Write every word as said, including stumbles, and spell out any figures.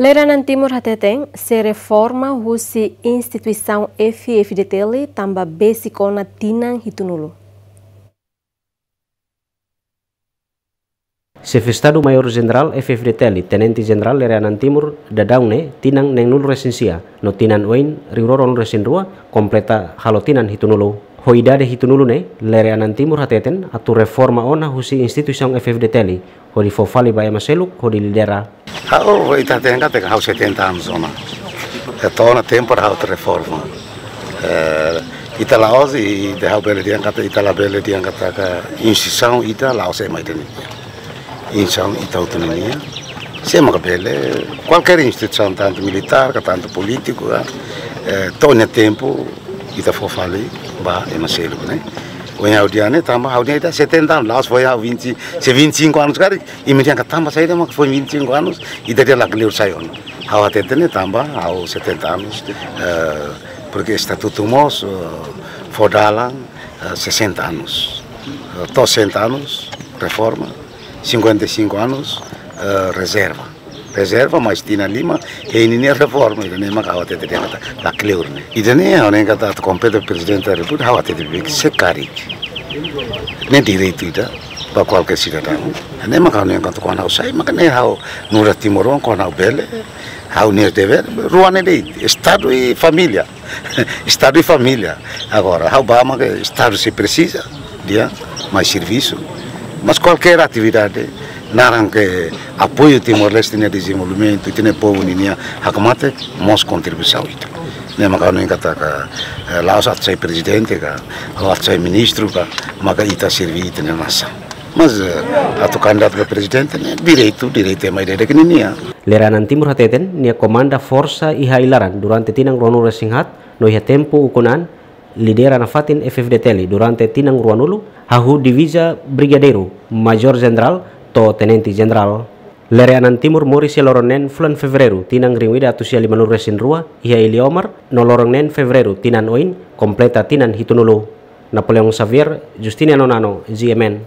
Lere Anan Timur hateten sei reforma husi instituisaun F-FDTL tanba besik ona tinan hitunulu. Xefe Estadu Maiór Jenerál F-FDTL, Tenente Jenerál Lere Anan Timur, daudaun ne'e tinan neenulu resin sia, no tinan oin rihun rua ruanulu resin rua, kompleta halo tinan hitunulu. Ho idade hitunulu ne'e, Lere Anan Timur hateten atu reforma ona husi instituisaun F-FDTL, hodi fó fali ba ema seluk hodi lidera. Ha'u, ita hateten katak ha'u setenta anos ona. Entaun ona tempu ha'u atu reforma. Eh, ita la'ós, i, i ha'u bele dehan katak, ita labele dehan katak instituisaun ita la'ós ema ida nian. Instituisaun ita hotu nian. Se ema ka bele, kualkér instituisaun, tantu militár, ka tantu polítiku, ka, eh, to'o nia tempu, ita fó fali ba ema seluk ne'e. Ohin ha'u dehan ne'e, tanba ha'u dehan ita setenta anos, la'ós foin ha'u vinte, se vinte e cinco anos karik, imi dehan katak tanba saida mak foin vinte e cinco anos, ita dehan la kleur sai ona. Ha'u hateten ne'e tanba ha'u setenta anos, eh, porque estatutu mós, eh, fó dalan, eh, sessenta anos. Eh, to'o sessenta anos, reforma, cinquenta e cinco anos, eh, rezerva. Rezerva, mais tinan lima, hein ninia reforma, ida-ne'e mak ha'u hateten dehan katak la kleur ne'e. Ida-ne'e, ha'u dehan katak atu kompete Prezidente da Repúblika, ha'u hateten beibeik se karik. Ne'e direitu ida ba kualkér sidadaun. Ne'e mak ha'u dehan katak kuandu ha'u sai, mak ne'e ha'u nu'udar timoroan, kuandu ha'u bele, ha'u-nia devér, rua ne'e de'it, Estadu i família. Estadu i família. Agora, ha'u bá mak Estadu sei presiza, dehan, mai servisu. Mas kualkér atividade, naran ke apoiu Timor-Leste nia dezenvolvimentu, ita-nia povu ninia hakmatek, mós kontribuisaun ita. Ne'e mak ha'u dehan katak, eh, la'ós atu sai prezidente ka, la'ós atu sai ministru ka, maka ita serví ita-nia nasaun. Mas, eh, atu kandidatu ba prezidente ne'e direitu, direitu ema ida-idak nian. Lere Anan Timur hateten, nia komanda forsa iha ai-laran durante tinan ruanulu resin haat, no iha tempu ukun an, lidera nafatin F-FDTL durante tinan ruanulu, hahú diviza Brigadeiru, Majór Jenerál, to'o Tenente Jenerál. Lere Anan Timur moris iha loron neen fulan Fevereiru, tinan rihun ida atus sia limanulu resin rua, iha Iliomar, no loron neen Fevereiru, tinan oin, kompleta tinan hitunulu. Napoleão Xavier, Justiniano Nano, G M N.